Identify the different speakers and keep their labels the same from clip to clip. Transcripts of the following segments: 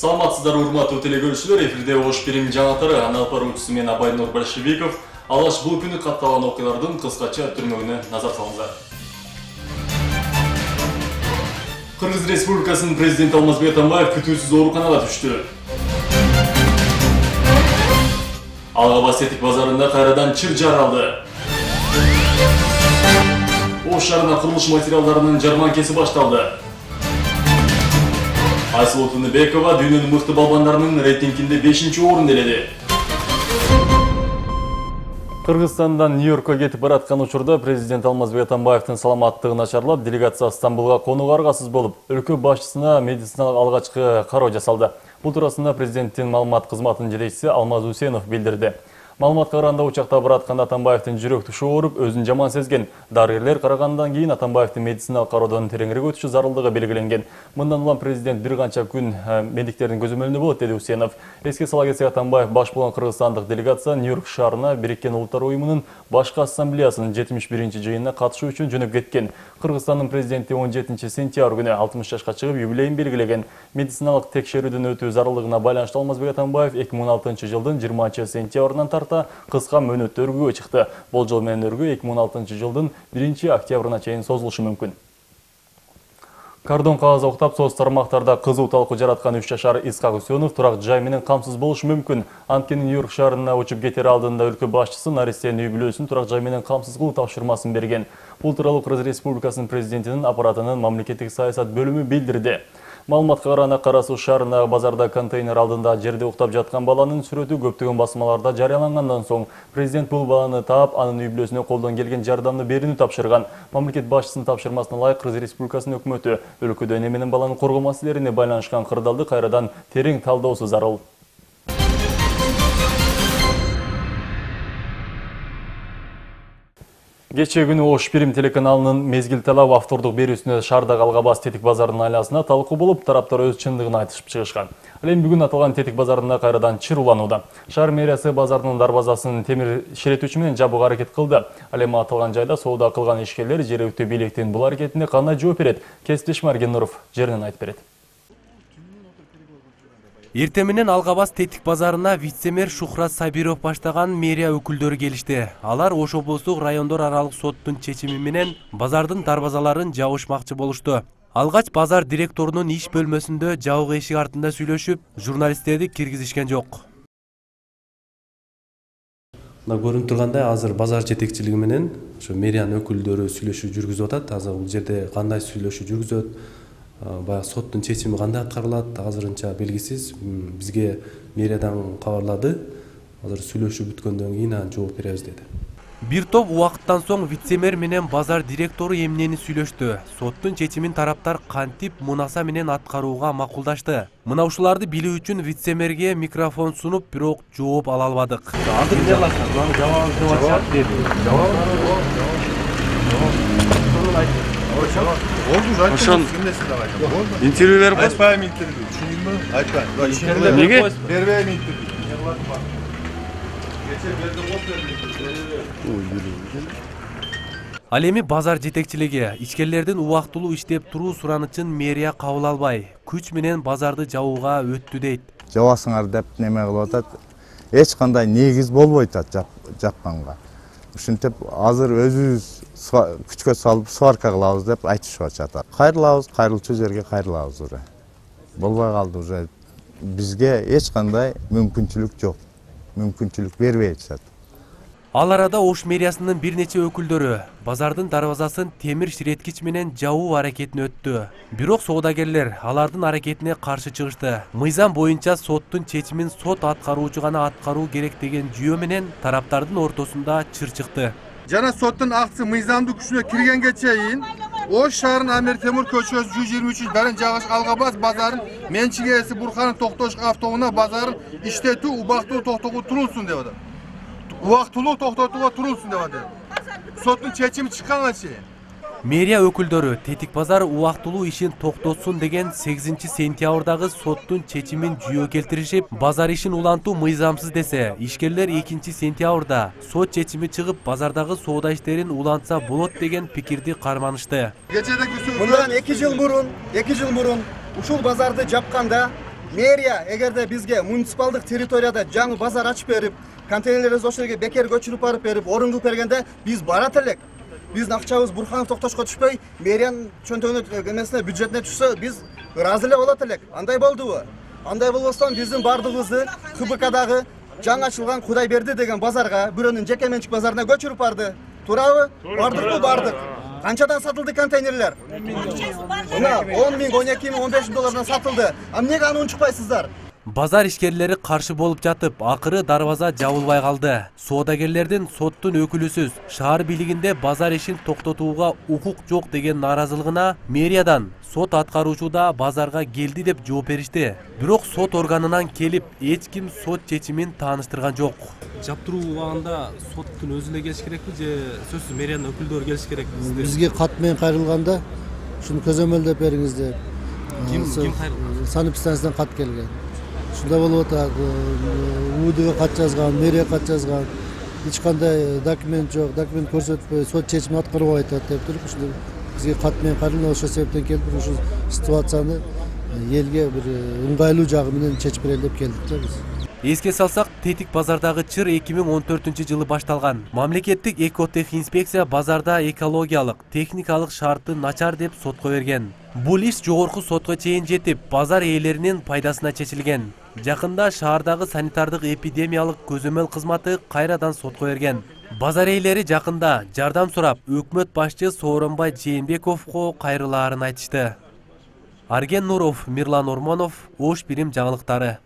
Speaker 1: Саламатсыздар урматтуу телекөрүүчүлөр, эфирде Ош Бирим жаңалыктары, аны алып баруучусу мен Абайнур Большевиков. Алаш бул күнү катталган окуялардын кыскача түрмөгүнө назар салыңыздар. Кыргыз Республикасынын президенти Алмазбек Атамбаев күтүүсүз ооруканага түштү. Алгабас Тетик базарында кайрадан чыр жаралды. Ош шаарына курулуш материалдарынын жарманкеси башталды. Айсулуу Тыныбекова дүйнөнүн мыкты балбандарынын рейтингинде 5-орун ээледи. Кыргызстандан Нью-Йоркко кетип бараткан учурда президент Алмазбек Атамбаевдин саламаттыгы начарлап, делегация Стамбулга конууга аргасыз болуп, өлкө башчысына медициналык алгачкы кароо жасалды. Бул туурасында президенттин маалымат кызматынын жетекчиси Алмаз Усенов билдирди. Маалыматка караганда учакта бараткан Атамбаевдин жүрөк тушу ооруп, өзүн жаман сезген. Дарыгерлер карагандан кийин Атамбаевдин медициналык кароодон тереңирээк өтүшү зарылдыгы белгиленген. Мындан улам президент бир канча күн медиктердин көзөмөлүндө болот, деди Усенов. Эске сала кетсек, Атамбаев баш болгон кыргызстандык делегация Нью-Йорк шаарына Бириккен Улуттар уюмунун башкы ассамблеясынын 71-жыйынына катышуу үчүн жөнөп кеткен. Кыргызстандын президенти 17-сентябрь күнү 60 жашка чыгып юбилейин белгилеген. Медициналык текшерүүдөн өтүү зарылдыгына байланыштуу Алмазбек Атамбаев 2016-жылдын 20-сентябрынан тарта кыска мөөнөттө өргүүгө чыкты. Болжол менен өргүү 2016-жылдын 1-октябрына чейин созулушу мүмкүн. Кардон кагаз октап, соц тармактарда кызуу талкуу жараткан 3 жашар Исхак Үсөнов турак жай менен камсыз болушу мүмкүн. Анткени Нью-Йорк шаарына учуп кетер алдында өлкө башчысы Наристенин үй-бүлөсүн турак жай менен камсыз кылуу тапшырмасын берген. Бул тууралуу Кыргыз Республикасынын президентинин аппаратынын мамлекеттик саясат бөлүмү билдирди. Маалыматка караганда, Кара Суу шаарындагы базарда контейнер алдында жерде уктап жаткан баланын сүрөтү көптөгөн басмаларда жарыялангандан соң президент бул баланы таап, анын үй-бүлөсүнө колдон келген жардамды берүүнү тапшырган. Мамлекет башчысынын тапшырмасына ылайык Кыргыз Республикасынын өкмөтү өлкөдө эне менен баланы коргоо маселелерине байланышкан кырдаалды кайрадан терең талдоосу зарыл. Кечээ күнү Ош Бирим телеканалынын мезгил талап автордук берүүсүнө шаардагы Алгабас Тетик базарынын айласына талкуу болуп, тараптар өз чындыгын айтышып чыгышкан. Ал эми бүгүн аталган Тетик базарында кайрадан чыр уланууда. Шаар мэриясы базардын дарбазасын темир ширетүүчү менен жабууга аракет кылды. Ал эми аталган жайда соода кылган ишкерлер жергиликтүү бийликтин бул аракетине кандай жооп берет? Кесиптешим Арген Нуров жеринен айтып берет.
Speaker 2: Эртең менен Алгабас Тетик базарына вице-мэр Шухрат Сабиров баштаган мэрия өкүлдөрү келишти. Алар Ош облустук райондор аралык соттун чечими менен базардын дарбазаларын жабышмакчы болушту. Алгач базар директорунун иш бөлмөсүндө жабык эшик артында сүйлөшүп, журналисттерди киргизишкен жок.
Speaker 3: Мына көрүнүп тургандай, азыр базар жетекчилиги менен ошо мэриянын өкүлдөрү сүйлөшүү жүргүзүп атат. Азыр бул жерде кандай сүйлөшүү жүргүзөт, баягы соттун чечими кандай аткарылат, азырынча белгисиз. Бизге мэриядан кабарлады. Азыр сүйлөшүү бүткөндөн кийин жооп беребиз деди.
Speaker 2: Бир топ убакыттан соң вице-мэр менен базар директору эмнени сүйлөштү. Соттун чечимин тараптар кантип мунаса менен аткарууга макулдашты. Мына ушуларды билүү үчүн вице-мэрге микрофон сунуп, бирок жооп ала албадык.
Speaker 4: Ошон интервью берип айтпайм, интервью. Түшүндүңбү? Айтпайм. Неге? Бербейм интервью.
Speaker 2: Ал эми базар жетекчилиги ичкерлердин убактылуу иштеп туруу суранычын мэрия кабыл албай, күч менен базарды жабууга өттү дейт.
Speaker 5: Жабасыңар деп неме кылып атат. Эч кандай негиз болбойт жапканга. Ушинтип азыр өзүбүз күчкө салып сварка кылабыз деп айтышып атат. Кайрылабыз, кайрылчу жерге кайрылабыз уже. Болбой калды уже. Бизге эч кандай мүмкүнчүлүк жок. Мүмкүнчүлүк бербей атышат.
Speaker 2: Ал арада Ош мэриясынын бир нече өкүлдөрү базардын дарбазасын темир ширеткич менен жабуу аракетине өттү. Бирок соодагерлер алардын аракетине каршы чыгышты. Мыйзам боюнча соттун чечимин сот аткаруучу гана аткаруу керек деген жүйө менен тараптардын ортосунда чыр чыкты.
Speaker 4: Жана соттун акты мыйзамдуу күчүнө киргенге чейин Ош шаарынын Амир Темур көчөсү 123 Дарын жагыш Алгабас базарын менчик ээси Бурханов Токтош автоунаа базарын иштетүү убактылуу токтотууга турулсун деп атат. Убактылуу токтотууга турулсун деп атат. Соттун чечими чыкканга чейин.
Speaker 2: Мэрия өкүлдөрү Тетик базар убактылуу ишин токтотсун деген 8-сентябрдагы соттун чечимин жүйө келтиришип, базар ишин улантуу мыйзамсыз десе, ишкерлер 2-сентябрда сот чечими чыгып, базардагы соода иштерин улантса болот деген пикирди карманышты.
Speaker 6: Мындан 2 жыл мурун ушул базарды жапканда Мэрия эгерде бизге муниципалдык территорияда жаңы базар ачып берип, контейнерлерди ошол жерге бекер көчүрүп барып берип, орун кылып бергенде биз барат элек. Биздин акчабыз Бурханов Токтошко түшпөй, мэриянын чөнтөгүнө эмесине бюджетине түшсө, биз ыраазы эле болот элек. Андай болдубу? Андай болбостон биздин бардыгыбызды КБКдагы жаңы ачылган Кудайберди деген базарга, бирөөнүн жеке менчик базарына көчүрүп барды. Туурабы? Бардыкпы? Бардык. Канчадан сатылды контейнерлер? Мына 10 миң, 12 миң, 15 миң доллардан сатылды. Эмнеге аны унчукпайсыздар?
Speaker 2: Базар ишкерлери каршы болуп жатып, акыры дарбаза жабылбай калды. Соодагерлердин соттун өкүлүсүз шаар бийлигинде базар ишин токтотууга укук жок деген нааразылыгына мэриядан сот аткаруучуда базарга келди деп жооп беришти. Бирок сот органынан келип, эч ким сот чечимин тааныштырган жок.
Speaker 3: Жаптыруу убагында соттун өзү эле келиш керекпи же сөзсүз мэриянын өкүлдөрү келиш керекпи?
Speaker 7: Бизге кат менен кайрылганда ушуну көзөмөлдөп бериңиз деп.
Speaker 3: Ким кайрылган?
Speaker 7: Санэпидстанциядан кат келген. Ушундай болуп атат. УУДга кат жазган, мэрия кат жазган. Эч кандай документ жок, документ көрсөтпөй, сот чечимин аткарбай атат деп туруп, ушундай бизге кат менен кайрылган, ошол себептен келип ушул ситуацияны элге бир ыңгайлуу жагы менен чечип берели деп келдик да биз.
Speaker 2: Эске салсак, Тетик базардагы чыр 2014-жылы башталган. Мамлекеттик экотех инспекция базарда экологиялык, техникалык шарты начар деп сотко берген. Бул иш жогорку сотко чейин жетип, базар ээлеринин пайдасына чечилген. Жакында шаардагы санитардык эпидемиялык көзөмөл кызматы кайрадан сотко берген. Базар ээлери жакында жардам сурап, өкмөт башчы Сооронбай Жээнбековго кайрылаарын айтышты. Арген Нуров, Мирлан Ормонов, Ош Бирим жаңылыктары.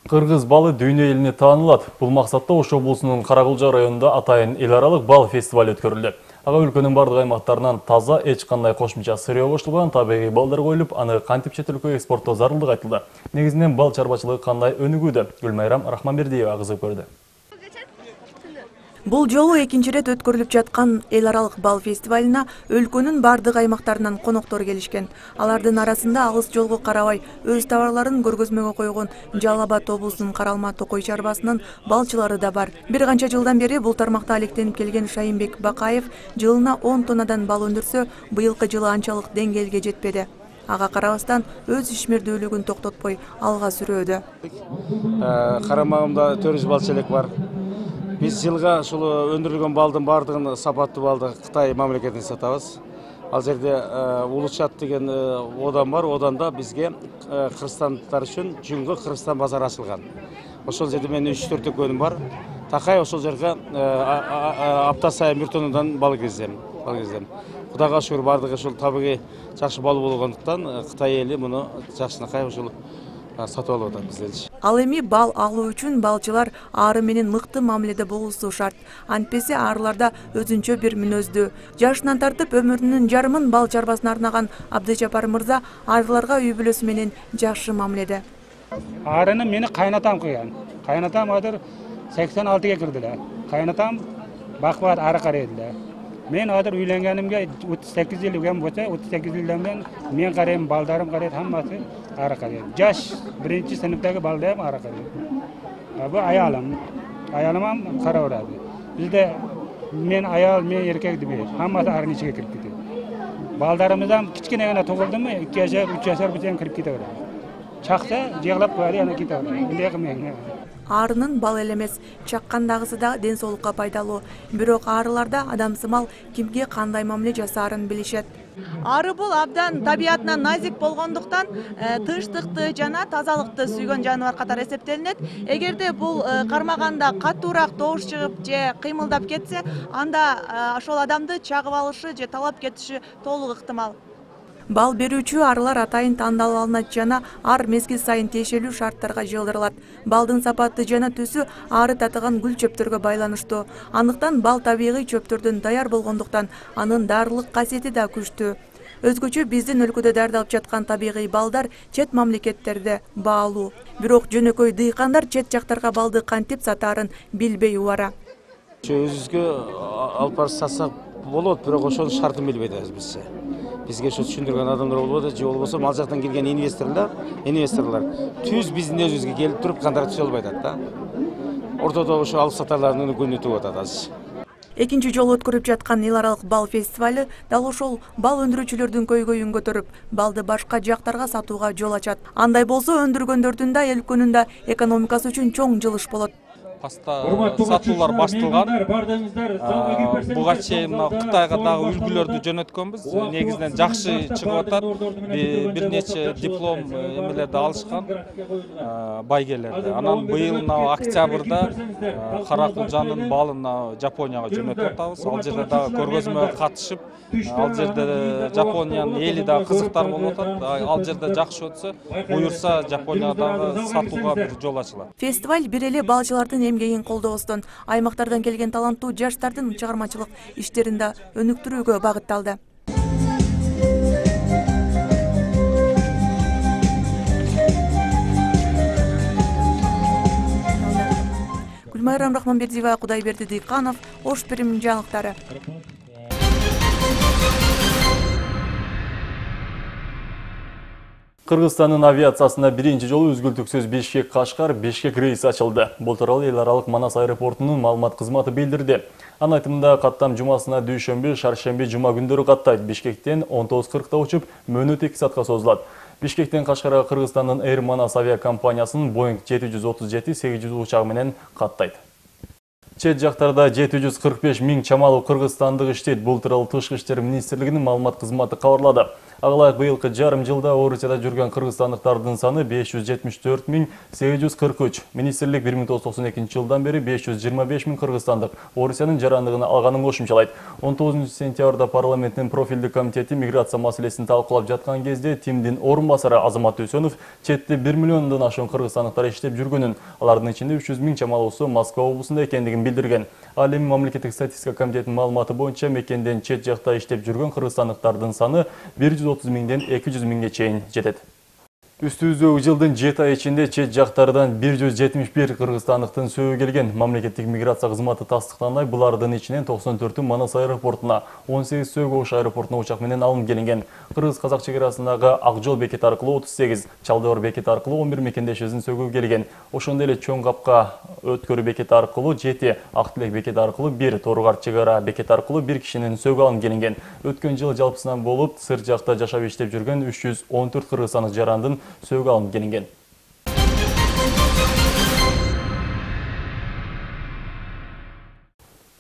Speaker 1: Кыргыз балы дүйнө элине таанылат. Бул максатта Ош облусунун Каракулжа районунда атайын эл аралык бал фестиваль өткөрүлдү. Ага өлкөнүн бардык аймактарынан таза, эч кандай кошумча сырьё кошулган табигый балдар коюлуп, аны кантип чет өлкөгө экспорттоо зарылдыгы айтылды. Негизинен бал чарбачылыгы кандай өнүгүүдө? Гүлмайрам Рахманбердиева кызыгып көрдү.
Speaker 8: Бул жолу экинчи ирет өткөрүлүп жаткан эл аралык бал фестивалына өлкөнүн бардык аймактарынан коноктор келишкен. Алардын арасында алыс жолго карабай өз товарларын көргөзмөгө койгон Жалал Абад облусунун Каралма Токой чарбасынын балчылары да бар. Бир канча жылдан бери бул тармакта алектенип келген Шайымбек Бакаев жылына 10 тоннадан бал өндүрсө, быйылкы жылы анчалык деңгээлге жетпеди. Ага карабастан өз ишмердүүлүгүн токтотпой алга сүрөөдө.
Speaker 9: Карамагымда 400 балчылык бар. Биз жылга ушул өндүрүлгөн балдын бардыгын сапаттуу балды Кытай мамлекетине сатабыз. Ал жерде Улучат деген одан бар, оданда бизге кыргызстандыктар үчүн Жүнгө Кыргызстан базары ачылган. Ошол жерде менин 3-4 экөөнүм бар. Такай ошол жерге апта сайын 1 тоннадан бал киргизем. Кудайга шүгүр бардыгы ушул табигый жакшы бал болгондуктан Кытай эли муну жакшынакай ушул сатып алып атат бизден.
Speaker 8: Ал эми бал алуу үчүн балчылар ары менен мыкты мамиледе болуусу шарт. Антпесе арыларда өзүнчө бир мүнөздүү. Жашынан тартып өмүрүнүн жарымын бал чарбасына арнаган Абдыжапар мырза арыларга үй бүлөсү менен жакшы мамиледе.
Speaker 10: Арыны мени кайнатам кыйган. Кайнатам азыр 86га кирди эле. Кайнатам бакпат ары карай эле. Мен азыр үйлөнгөнүмгө 38 жыл үлгөн болсо, 38 жылдан мен карайм, балдарым карайт, хаммасы ары карай. Жаш 1-сыныптагы балдарым ары карай. Бу аялым карап турат. Бизде мен аял, мен эркек деп, хаммасы арын ичиге кирип кетет. Балдарымыз ham кичкене гана тугулдуму, 2 жашар, 3 жашар болсо кирип кете берет. Чакса жыглап коюп, ана кете берет. Эмне кылмайм.
Speaker 8: Арынын бал эле эмес, чаккандагысы да ден соолукка пайдалуу. Бирок арыларда адамсымал кимге кандай мамиле жасаарын билишет. Ары бул абдан табиятынан назик болгондуктан тынчтыкты жана тазалыкты сүйгөн жаныбар катары эсептелинет. Эгерде бул кармаганда катуураак добуш чыгып же кыймылдап кетсе, анда ошол адамды чагып алышы же талап кетиши толук ыктымал. Бал берүүчү арылар атайын тандалып алынат жана ар мезгил сайын тиешелүү шарттарга жылдырылат. Балдын сапаты жана түсү ары татыган гүл чөптөргө байланыштуу. Андыктан бал табигый чөптөрдөн даяр болгондуктан анын дарылык касиети да күчтүү. Өзгөчө биздин өлкөдө даярдалып жаткан табигый балдар чет мамлекеттерде баалуу. Бирок жөнөкөй дыйкандар чет жактарга балды кантип сатаарын билбей убара.
Speaker 9: Өзүбүзгө алып барып сатсак болот, бирок ошонун шартын билбейт бизче. Бизге ошо түшүндүргөн адамдар болбойт, же болбосо ал жактан келген инвесторлор түз биздин өзүбүзгө келип туруп контракт түзө албай атат да. Ортодо ошо алып сатарлардын күнү тугуп атат азыр.
Speaker 8: Экинчи жолу өткөрүп жаткан эл аралык бал фестивалы дал ошол бал өндүрүүчүлөрдүн көйгөйүн көтөрүп, балды башка жактарга сатууга жол ачат. Андай болсо өндүргөндөрдүн да эл өлкөнүн да экономикасы үчүн чоң жылыш болот.
Speaker 11: Паста сатуулар башталган. Буга чейин Кытайга дагы үлгүлөрдү жөнөткөнбүз. Негизинен жакшы чыгып атат. Бир нече диплом эмелерди алышкан байгелерди. Анан быйыл октябрда Каракулжанын балын Жапонияга жөнөтүп атабыз. Ал жерде дагы көргөзмөгө катышып, ал жерде Жапониянын эли дагы кызыктар болуп атат. Ал жерде жакшы өтсө, буюрса Жапониядагы сатууга бир жол ачылат.
Speaker 8: Фестиваль бир эле балчылардын эмгегин колдоостон, аймактардан келген таланттуу жаштардын чыгармачылык иштерин да өнүктүрүүгө багытталды. Гүлмайрам Рахманбердиева, Кудайберди Дыйканов, Ош Перим жаңылыктары.
Speaker 1: Кыргызстандын авиациясына биринчи жолу үзгүлтүксүз Бишкек рейси ачылды. Бул тууралуу эл аралык Манас аэропортунун маалымат кызматы билдирди. Анын айтымында каттам жумасына дүйшөмбү, шаршемби, жума күндөрү каттайт. Бишкектен 19:40 учуп, мөөнөт 2 саатка созулат. Бишкектен Кашкарга Кыргызстандын Air Manas авиакомпаниясынын Boeing 737-800 учагы менен каттайт. Чет жактарда 745 миң чамалуу кыргызстандык иштейт. Бул тууралуу Тышкы иштер министрлигинин маалымат кызматы кабарлады. Ага быйылкы жарым жылда Орусияда жүргөн кыргызстандыктардын саны 574.843. Министрлик 1992 жылдан бери 525 миң кыргызстандык Орусиянын жарандыгын алганын кошумчалайт. 19 сентябрда парламенттин профилдик комитети миграция маселесин талкуулап жаткан кезде Тимдин орун басары Азамат Төсөнов четте 1 миллиондон ашуун кыргызстандыктар иштеп жүргөнүн, алардын ичинде 300 миң чамалуусу Москва облусунда экендигин билдирген. Ал эми мамлекеттик статистика комитетинин маалыматы боюнча мекенден чет жакта иштеп жүргөн кыргызстандыктардын саны 130 миңден 200 миңге чейин жетет. Үстүбүздөгү жылдын 7 ай ичинде чет жактардан 171 кыргызстандыктын сөөгү келген. Мамлекеттик миграция кызматы тастыктагандай, булардын ичинен 94-ü Манас аэропортуна, 18 сөөгү Ош аэропортуна учак менен алынып келинген. Кыргыз-казак чекарасындагы Ак жол бекети аркылуу 38, Чалдыбар бекети аркылуу 11 мекендешибиздин сөөгү келген. Ошондой эле Чоң Капка өткөрүү бекети аркылуу 7, Ак Тилек бекети аркылуу 1, Торгар чегара бекети аркылуу 1 кишинин сөөгү алынып келинген. Өткөн жыл жалпысынан болуп, сырт жакта жашап иштеп жүргөн 314 кыргызстандык жарандын сөөгү алынып келинген.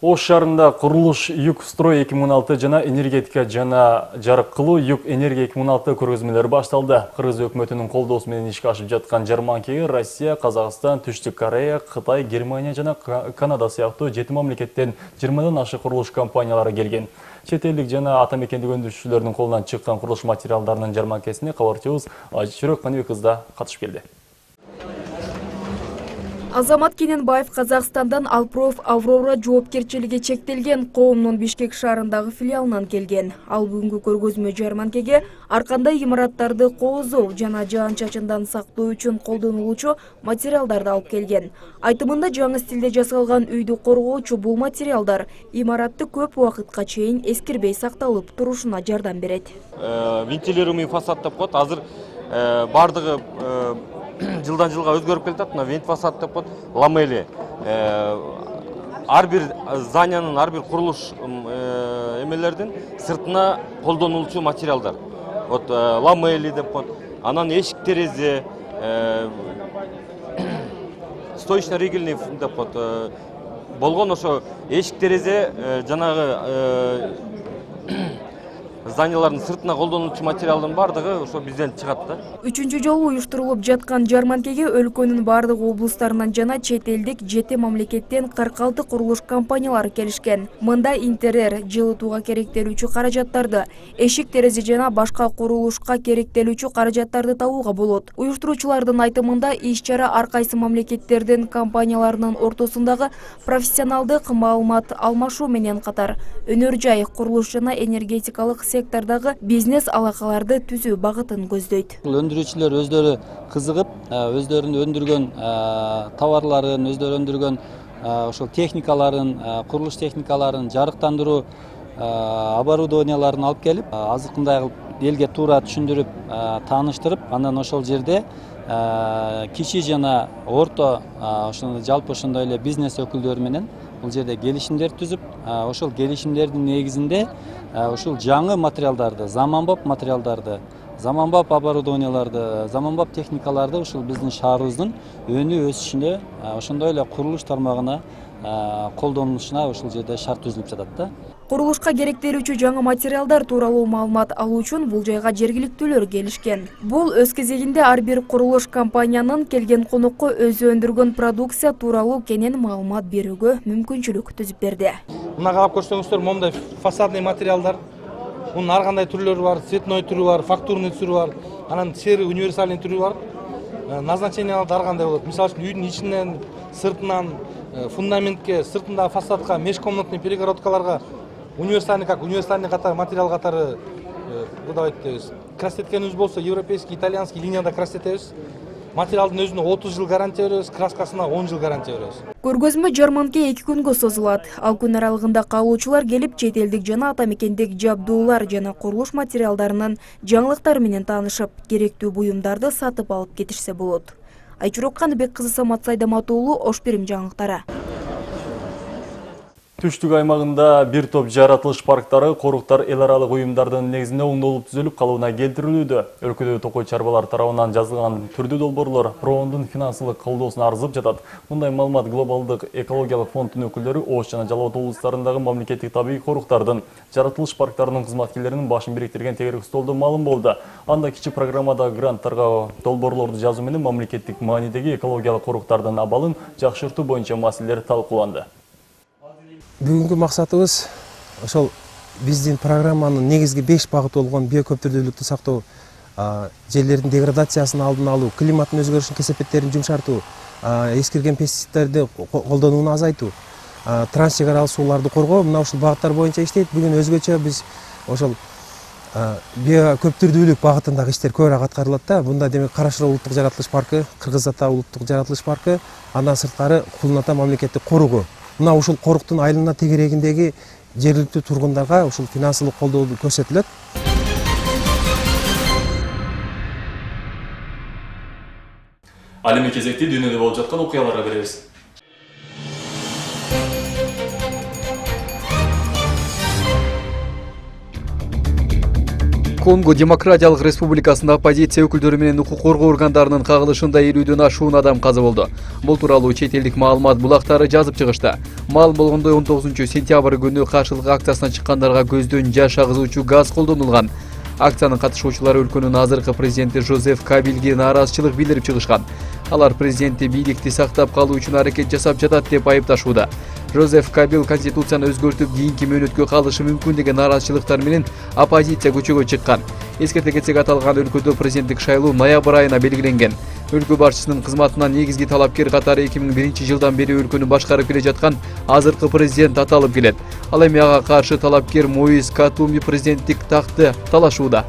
Speaker 1: Ош шаарында курулуш Юг строй 2016 жана энергетика жана жарык кылуу Юг энергия 2016 көргөзмөлөрү башталды. Кыргыз өкмөтүнүн колдоосу менен ишке ашып жаткан жарманкеге Россия, Казакстан, Түштүк Корея, Кытай, Германия жана Канада сыяктуу 7 мамлекеттен 20дан ашык курулуш компаниялары келген. Чет элдик жана ата мекендик өндүрүүчүлөрдүн колунан чыккан курулуш материалдарынын жарманкесине кабарчыбыз Ажичүрөк Каныбек кызда катышып келди.
Speaker 12: Азамат Кененбаев Казакстандан Алпроф Аврора жоопкерчилиги чектелген коомдун Бишкек шаарындагы филиалынан келген. Ал бүгүнкү көргөзмө жарманкеге ар кандай имараттарды коозоо жана жаан-чачындан сактоо үчүн колдонулуучу материалдарды алып келген. Айтымында жаңы стилде жасалган үйдү коргоочу бул материалдар имаратты көп убакытка чейин эскирбей сакталып турушуна жардам берет.
Speaker 13: Вентилируемый фасад деп коет. Азыр бардыгы жылдан жылга өзгөрүп келатат. Мына вент фасад деп коет, ламели. Ар бир зданиянын, ар бир курулуш эмелердин сыртына колдонулуучу материалдар. Вот ламели деп коет. Анан эшик терезе, стоечно-ригельный деп коет. Болгон ошо эшик терезе жанагы зданиялардын сыртына колдонулуучу материалдын бардыгы ошо бизден чыгат да.
Speaker 12: 3-чү жолу уюштурулуп жаткан жарманкеге өлкөнүн бардык облустарынан жана чет элдик 7 мамлекеттен 46 курулуш компаниялары келишкен. Мында интерьер, жылытууга керектелүүчү каражаттарды, эшик терезе жана башка курулушка керектелүүчү каражаттарды табууга болот. Уюштуруучулардын айтымында иш-чара ар кайсы мамлекеттердин компанияларынын ортосундагы профессионалдык маалымат алмашуу менен катар өнөр жай, курулуш жана энергетикалык сектордагы бизнес алакаларды түзүү багытын көздөйт.
Speaker 14: Өндүрүүчүлөр өздөрү кызыгып, өздөрүнүн өндүргөн товарларын, өздөрү өндүргөн ошол техникаларын, курулуш техникаларын, жарыктандыруу оборудованияларын алып келип, азыркындай кылып элге туура түшүндүрүп, тааныштырып, андан ошол жерде кичи жана орто ошондой жалпы ошондой эле бизнес өкүлдөрү менен бул жерде келишимдер түзүп, ошол келишимдердин негизинде ушул жаңы материалдарды, заманбап материалдарды, заманбап оборудованияларды, заманбап техникаларды ушул биздин шаарыбыздын өнү өсүшүнө, ошондой эле курулуш тармагына колдонулушуна ушул жерде шарт түзүлүп жатат да.
Speaker 12: Курулушка керектелүүчү жаңы материалдар тууралуу маалымат алуу үчүн бул жайга жергиликтүүлөр келишкен. Бул өз кезегинде ар бир курулуш компаниянын келген конокко өзү өндүргөн продукция тууралуу кенен маалымат берүүгө мүмкүнчүлүк түзүп берди.
Speaker 15: Мына карап көрсөңүздөр, момундай фасадный материалдар, мунун ар кандай түрлөрү бар, цветной түрү бар, фактурный түрү бар, анан серый универсальный түрү бар. Назначениялар ар кандай болот. Мисалы үчүн үйдүн ичинен, сыртынан, фундаментке, сыртындагы фасадка, межкомнатный перегородкаларга универсальный катары материал катары выдавать краситкенибиз болсо европейский, итальянский линияда краситебиз. Материалдын өзүнө 30 жыл гарантия беребиз, краскасына 10 жыл гарантия беребиз.
Speaker 12: Көргөзмө жарманке 2 күнгө созулат. Ал күн аралыгында каалоочулар келип, чет элдик жана ата мекендик жабдуулар жана курулуш материалдарынын жаңылыктары менен таанышып, керектүү буюмдарды сатып алып кетишсе болот. Айчурок Каныбек кызы, Самат Сайдамат уулу, Ош Бирим жаңылыктары.
Speaker 1: Түштүк аймагында бир топ жаратылыш парктары, коруктар эл аралык уюмдардын негизинде оңдолуп түзүлүп калууна келтирилүүдө. Өлкөдө токой чарбалар тарабынан жазылган түрдүү долбоорлор Проондун финансылык колдоосуна арзып жатат. Мындай маалымат Глобалдык экологиялык фонддун өкүлдөрү Ош жана Жалал Абад облустарындагы мамлекеттик табигый коруктардын, жаратылыш парктарынын кызматкерлеринин башын бириктирген тегерек столдо маалым болду. Анда кичи программада гранттарга долбоорлорду жазуу менен мамлекеттик маанидеги экологиялык коруктардын абалын жакшыртуу боюнча маселелер талкууланды.
Speaker 16: Бүгүнкү максатыбыз ошол биздин программанын негизги 5 багыты болгон биокөптүрдүүлүктү сактоо, жерлердин деградациясын алдын алуу, климаттын өзгөрүшүнүн кесепеттерин жумшартуу, эскирген пестицидтерди колдонууну азайтуу, транс чек аралык сууларды коргоо, мына ушул багыттар боюнча иштейт. Бүгүн өзгөчө биз ошол биокөптүрдүүлүк багытындагы иштер көбүрөөк аткарылат да. Бунда демек Кара-Шыр улуттук жаратылыш паркы, Кыргыз Ата улуттук жаратылыш паркы, андан сырткары Кулун Ата мамлекеттик коругу. Мына ушул коруктун айылына тегерегиндеги жергиликтүү тургундарга ушул финансылык колдоо көрсөтүлөт.
Speaker 1: Ал эми кезекти дүйнөдө болуп жаткан окуяларга беребиз.
Speaker 17: Конго Демократиялык Республикасында оппозиция өкүлдөрү менен укук коргоо органдарынын кагылышында 50дөн ашуун адам каза болду. Бул тууралуу чет элдик маалымат булактары жазып чыгышты. Маалым болгондой 19-сентябрь күнү каршылык акциясына чыккандарга көздөн жаш агызуучу газ колдонулган. Акциянын катышуучулары өлкөнүн азыркы президенти Жозеф Кабилге нааразычылык билдирип чыгышкан. Алар президентти бийликти сактап калуу үчүн аракет жасап жатат деп айыпташууда. Жозеф Кабил конституцияны өзгөртүп кийинки мөөнөткө калышы мүмкүн деген нааразычылыктар менен оппозиция көчөгө чыккан. Эскерте кетсек, аталган өлкөдө президенттик шайлоо ноябрь айына белгиленген. Өлкө башчысынын кызматынан негизги талапкер катары 2001 жылдан бери өлкөнү башкарып келе жаткан азыркы президент аталып келет. Ал эми ага каршы талапкер Моиз Катумби президенттик такты талашууда.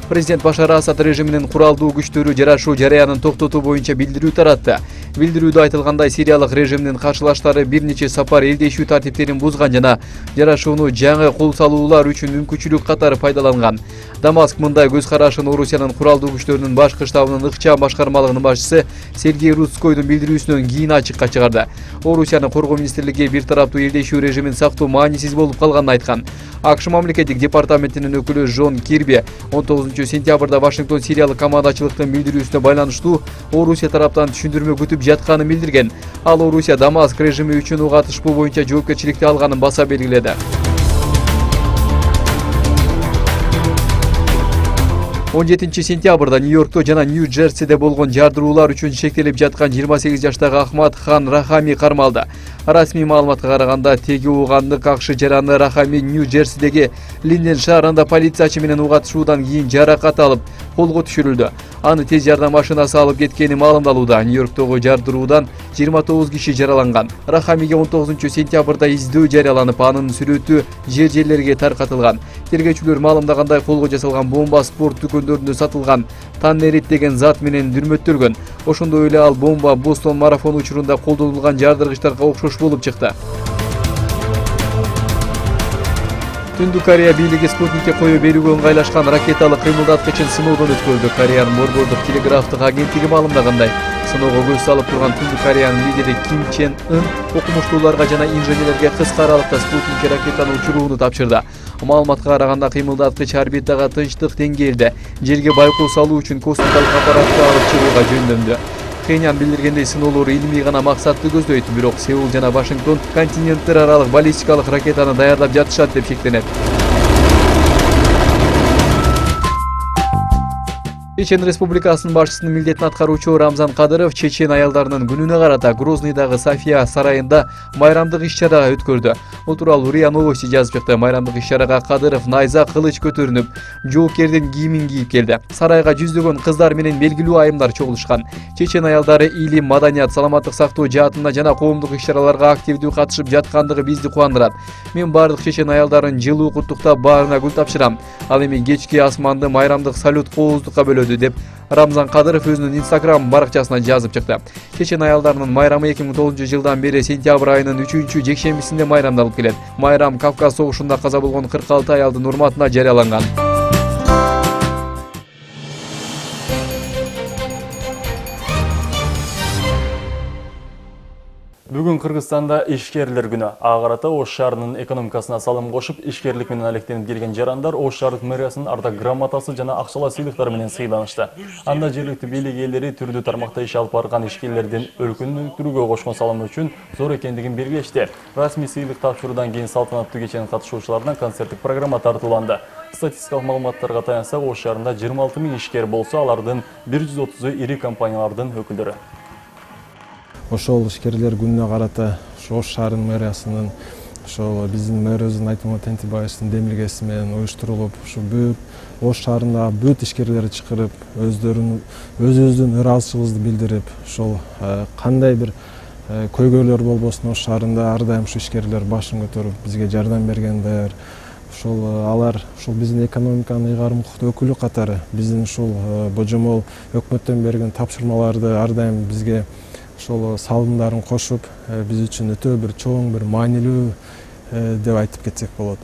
Speaker 17: Президент Башар Асад режиминин куралдуу күчтөрү жарашуу жараянын токтотуу боюнча билдирүү таратты. Билдирүүдө айтылгандай, сириялык режимдин каршылаштары бир нече сапар элдешүү тартиптерин бузган жана жарашууну жаңы кол салуулар үчүн мүмкүнчүлүк катары пайдаланган. Дамаск мындай көз карашын Орусиянын куралдуу күчтөрүнүн башкы штабынын ыкчам башкармалыгынын башчысы Сергей Рудскойдун билдирүүсүнөн кийин ачыкка чыгарды. Орусиянын коргоо министрлиги бир тараптуу элдешүү режимин сактоо маанисиз болуп калганын айткан. АКШ мамлекеттик департаментинин өкүлү Жон Кирби 19-сентябрда Вашингтон сириялык командачылыктын билдирүүсүнө байланыштуу Орусия тараптан түшүндүрмө күтүп жатканын билдирген. Ал Орусия Дамаск режими үчүн уга атышпоо боюнча жоопкерчиликти алганын баса белгиледи. 17-сентябрда Нью-Йоркто жана Нью-Джерсиде болгон жардыруулар үчүн шектелип жаткан 28 жаштагы Ахмад Хан Рахами кармалды. Расмий маалыматка караганда, теги уугандык АКШ жараны Рахами Нью-Джерсидеги Линден шаарында полициячы менен уга атышуудан кийин жаракат алып, колго түшүрүлдү. Аны тез жардам машинасы алып кеткени маалымдалууда. Нью-Йорктогу жардыруудан 29 киши жараланган. Рахамиге 19-сентябрда издөө жарыяланып, анын сүрөтү жер-жерлерге таркатылган. Тергөөчүлөр маалымдагандай, колго жасалган бомба спорт дүкөндөрүндө сатылган таннерит деген зат менен дүрмөттөлгөн. Ошондой эле ал бомба Бостон марафону учурунда колдонулган жардыргычтарга окшош болуп чыкты. Түндүк Корея бийлиги спутникке коюу берүүгө ыңгайлашкан ракеталык кыймылдаткычын сыноодон өткөрдү. Кореянын борбордук телеграфтык агенттиги маалымдагандай, сыноого көз салып турган Түндүк Кореянын лидери Ким Чен Ын окумуштууларга жана инженерлерге кыска аралыкта спутникке ракетаны учурууну тапшырды. Маалыматка караганда кыймылдаткыч орбитага тынчтык деңгээлде жерге байкоо салуу үчүн космикалык аппаратты алып чыгууга жөндөндү. Пхеньян билдиргендей, сыноолор илимий гана максатты көздөйт, бирок Сеул жана Вашингтон континенттер аралык баллистикалык ракетаны даярдап жатышат деп шектенет. Чечен Республикасынын башчысынын милдетин аткаруучу Рамзан Кадыров чечен аялдарынын күнүнө карата Грознийдагы София сарайында майрамдык иш-чара өткөрдү. Бул тууралуу РИА Новости жазып чыкты. Майрамдык иш-чарага Кадыров найза, кылыч көтөрүнүп, жоокердин кийимин кийип келди. Сарайга жүздөгөн кыздар менен белгилүү айымдар чогулушкан. Чечен аялдары илим, маданият, саламаттык сактоо жаатында жана коомдук иш-чараларга активдүү катышып жаткандыгы бизди кубандырат. Мен бардык чечен аялдарын жылуу куттуктап, баарына гүл тапшырам. Ал эми кечки асманды майрамдык салют кооздукка бөлөдү деп Рамзан Кадыров өзүнүн Instagram баракчасына жазып чыкты. Чечен аялдарынын майрамы 2009-жылдан бери сентябрь айынын 3-жекшембисинде майрамдалып келет. Майрам Кавказ согушунда каза болгон 46 аялдын урматына жарыяланган.
Speaker 1: Бүгүн Кыргызстанда ишкерлер күнү. Ага карата Ош шаарынын экономикасына салым кошуп, ишкерлик менен алектенип келген жарандар Ош шаардык мэриясынын ардак грамотасы жана акчалай сыйлыктар менен сыйланышты. Анда жергиликтүү бийлик ээлери түрдүү тармакта иш алып барган ишкерлердин өлкөнү өнүктүрүүгө кошкон салымы үчүн зор экендигин белгилешти. Расмий сыйлык тапшыруудан кийин салтанаттуу кеченин катышуучуларына концерттик программа тартууланды. Статистикалык маалыматтарга таянсак, Ош шаарында 26 000 ишкер болсо, алардын 130-у ири компаниялардын өкүлдөрү.
Speaker 18: Ошол ишкерлер күнүнө карата Ош шаарынын мэриясынын ошол биздин мэрибиздин Айтмамат Тентибаевдин демилгеси менен уюштурулуп, ушу бүт Ош шаарындагы бүт ишкерлерди чакырып, өзүбүздүн ыраазычылыгыбызды билдирип, ошол кандай бир көйгөйлөр болбосун Ош шаарында ар дайым ушу ишкерлер башын көтөрүп бизге жардам берген даяр. Ошол алар ушул биздин экономиканын ыйгарым укуктуу өкүлү катары биздин ушул божомол өкмөттөн берген тапшырмаларды ар дайым бизге ошол салымдарын кошуп, биз үчүн өтө бир чоң, бир маанилүү деп айтып кетсек болот.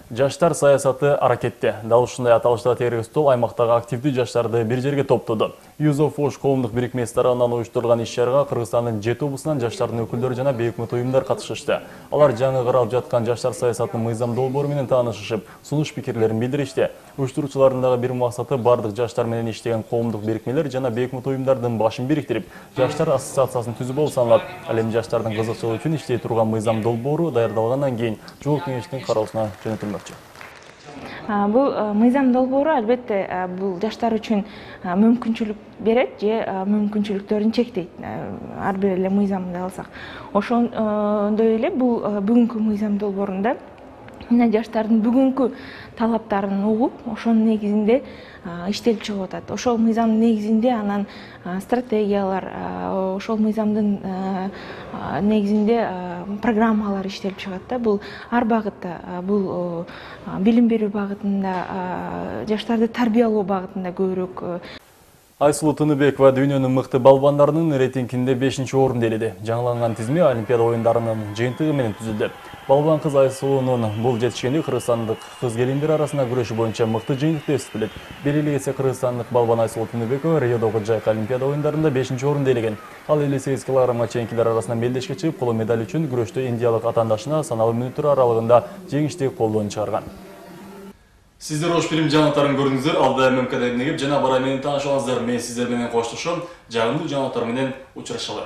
Speaker 1: Жаштар саясаты аракетте. Дал ушундай аталышта тереги стол аймактагы активдүү жаштарды бир жерге топтоду. Youth of Osh коомдук бирикмеси тарабынан уюштурулган иш-чарага Кыргызстандын 7 облусунан жаштардын өкүлдөрү жана бейөкмөт уюмдар катышышты. Алар жаңы каралып жаткан жаштар саясатынын мыйзам долбоору менен таанышышып, сунуш пикирлерин билдиришти. Уюштуруучулардын дагы бир максаты бардык жаштар менен иштеген коомдук бирикмелер жана бейөкмөт уюмдардын башын бириктирип, жаштар ассоциациясын түзүү болуп саналат. Ал эми жаштардын кызыкчылыгы үчүн иштей турган мыйзам долбоору даярдалгандан кийин жогорку кеңештин кароосуна жөнөтүлмөкчү.
Speaker 19: Бул мыйзам долбоору албетте бул жаштар үчүн мүмкүнчүлүк берет же мүмкүнчүлүктөрүн чектейт. Ар бир эле мыйзамды алсак, ошондой эле бул бүгүнкү мыйзам долбоорунда мына жаштардын бүгүнкү талаптарын угуп, ошонун негизинде иштелип чыгып атат. Ошол мыйзамдын негизинде анан стратегиялар, ошол мыйзамдын негизинде программалар иштелип чыгат да. Бул ар багытта, бул билим берүү багытында, жаштарды тарбиялоо багытында көбүрөөк.
Speaker 1: Айсулуу Тыныбекова дүйнөнүн мыкты балбандарынын рейтингинде 5-орунду ээледи. Жаңыланган тизме Олимпиада оюндарынын жыйынтыгы менен түзүлдү. Балбан кыз Айсулуунун бул жетишкендиги кыргызстандык кыз келиндер арасында күрөшү боюнча мыкты жыйынтык деп эсептелет. Бир эле кетсе кыргызстандык балбан Айсулуу Тыныбекова Риодогу жайкы Олимпиада оюндарында 5-орунду ээлеген. Ал 58 килограммга чейинкилер арасынан белдешке чыгып, коло медаль үчүн күрөштө индиялык атаандашына саналуу мүнөттөр аралыгында жеңиштүү колдон чыгарган. Сиздер Ош фильм жаңалыктарын көрдүңүздөр. Алда ММК негип жана барай менен таанышыңыздар. Мен сиздер менен коштошом. Жагымдуу жаңалыктар менен учурашалы.